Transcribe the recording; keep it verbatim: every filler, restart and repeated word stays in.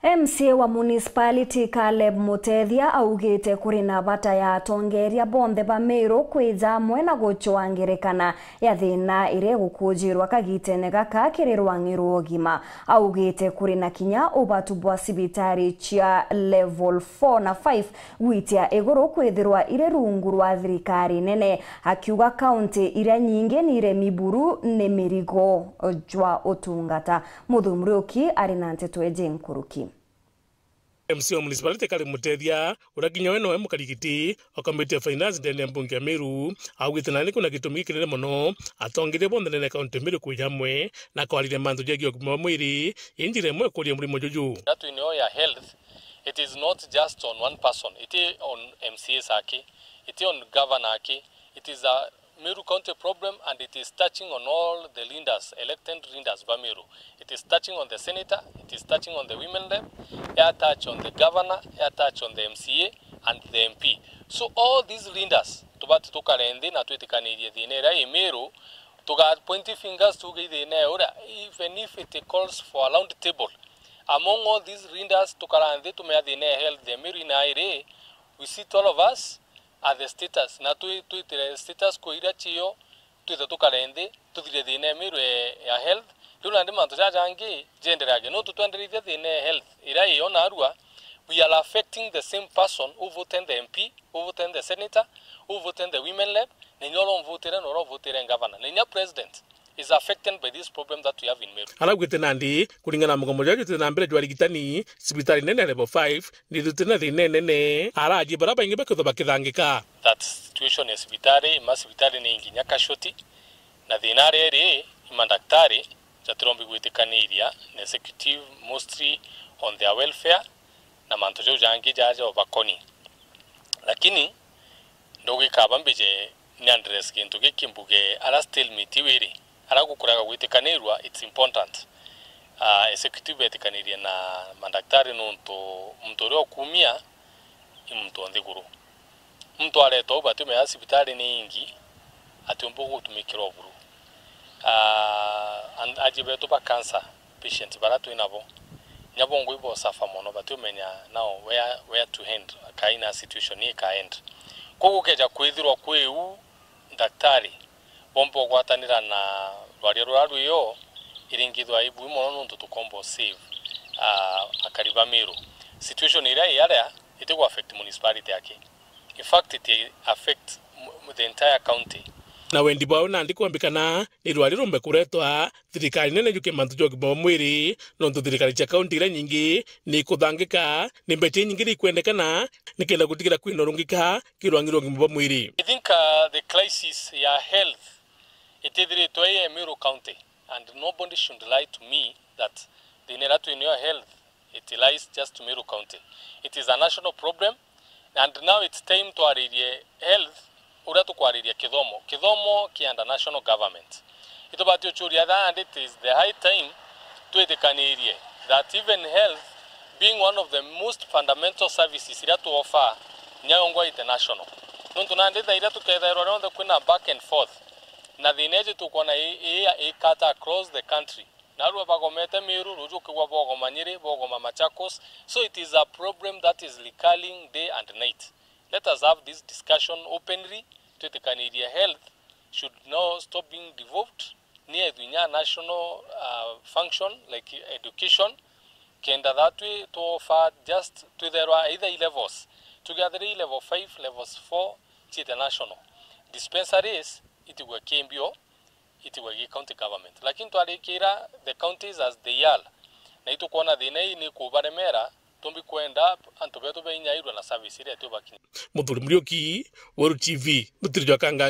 M C A wa municipality Caleb Mutethia augite kuri na bata ya atongeria bonthe ba Meru kwija amwe na gucwaa ngerekana ya thina iria igukujirwa kagitene gaka kiri rwang'i rwa ugima. Augite kuri na kinya ubatu bwa cibitari cia level four na five gwitia iguru kwithirwa iri rungu rwa thirikari nene, akiuga kaunti iria nyingi ni iremi buru ni mirigo jwa utungata. Muthuuri Muriuki ari na nteto iji nkuruki. M C A wa municipality Caleb Mutethia, uria kinya we nowe mukari giti wa committee ya finance ndene ya mbunge ya Meru, augite nandi kwina gitumi gikinene mono atongeria bonthe ndene ya kaunti ya Meru kwija amwe na kwariria mantu jegie ugima bwa mwiri, i njira imwe ya kuria murimo juju. That we know ya health, it is not just on one person, iti on M C As aki, iti on governor aki, it is a Meru County problem and it is touching on all the leaders, elected leaders ba Meru. It is touching on the senator, it is touching on the women rep, ya touch on the governor, ya touch on the M C A and the M P. So all these leaders tubati tukare nthi na twitikanirie thina iria i Meru, tuga point fingers tuge i thina ya uria, even if it calls for a round table. Among all these leaders tukara nthi tumea thina ya health ya Meru ina iri, we sit all of us at the status, na twi-, twitire status quo iria cio, twithe tukare nthi, tuthire thina ya Meru ya, ya health. Riu nandi mantu jaja jangi jendereage, nontu twendereithia thina ya health iria iyo narua, we are affecting the same person who voted the M P, who voted the senator, who voted the women rep, na inya uria umvutire na uria uvutire governor, na inya president is affected by this problem that we have in Meru. Araugite nandi, kuringana na mugomo juria juitite na mbere jwa arigitani, cibitari nene ya level five nithitite na thina inene, araji baria baingi bakithwa bakithangika. That situation ya cibitari, ima cibitari ni nginya casualty, na thina aria iri, ima ndaktari jatirombi gwitikaniria na executive mostly on their welfare na mantu jau jangi jaja ubakoni. Lakini ndugikaba mbije ni address gintu giki mbuge, ara stalemate iu iri, ara gukuraga gwitikanirua, it's important. Ah, executive betikanirie na mandaktari nontu muntu uria ukumia i muntu o nthiguru. Muntu aretwa u batiumenya cibitari ni ingi, atiumba gutumikirwa buru. Ah, and aji betu ba cancer patient bara twi nabo, inya bo ngui bo suffer mono, batiumenya now where, where to end, kaina situation ii ka end. Koguo gukeja kwithirwa kwi u, ndaktari bomba ugwatanira na rwaria ruria rwio, iringithwa ibui mono nontu tukomba u save, ah, akari ba Meru. Situation iria i aria itigu affect municipality aki. In fact, it affect m-, the entire county. Na wendi bwao nandi kwambikana ni rwari rumbe kuretwa thirikari nene juke mantu ja ugima bwa mwiri, nontu thirikari cia kaunti iria nyingi ni ikuthangika ni mbeca inyingi iria ikwendekana nikenda gutigira kwina urungika ki rwang'i rwa ugima bwa mwiri. I think, uh, the crisis ya health itithiritwe i Meru County, and nobody should lie to me that thina iria twinayo ya health it lies just to Meru County. It is a national problem, and now it's time twaririe health uria tukwariria kithomo. Kithomo ki under national government. Itubati uchuria that, and it is the high time twitikanirie that even health being one of the most fundamental services iria tu offer, nyayongwa international. Nontu nandi thaa iria tukethairwa rionthe kwina back and forth, na thina iji tukwona i, i, i cut across the country. Narua bagomete Meru, ruju ukigwa bogoma Nyeri, bogoma Machakos. So it is a problem that is recurring day and night. Let us have this discussion openly, twitikanirie health should now stop being devolved, ni ethwe inya national, uh, function like education, kenda that we to offer just twitherwa either i levels, tuge athiri i level five, levels four, ciite national. Dispensaries itigwe kimbio, itigwe gi county government. Lakini twarikira the counties as they are, na itukwona thina ii ni kubaremera, tumbi kwenda antu betu beinyairwe na service iria tubakinyia. Muthuri Muriuki, Weru T V, Mutiri jwa Kanga.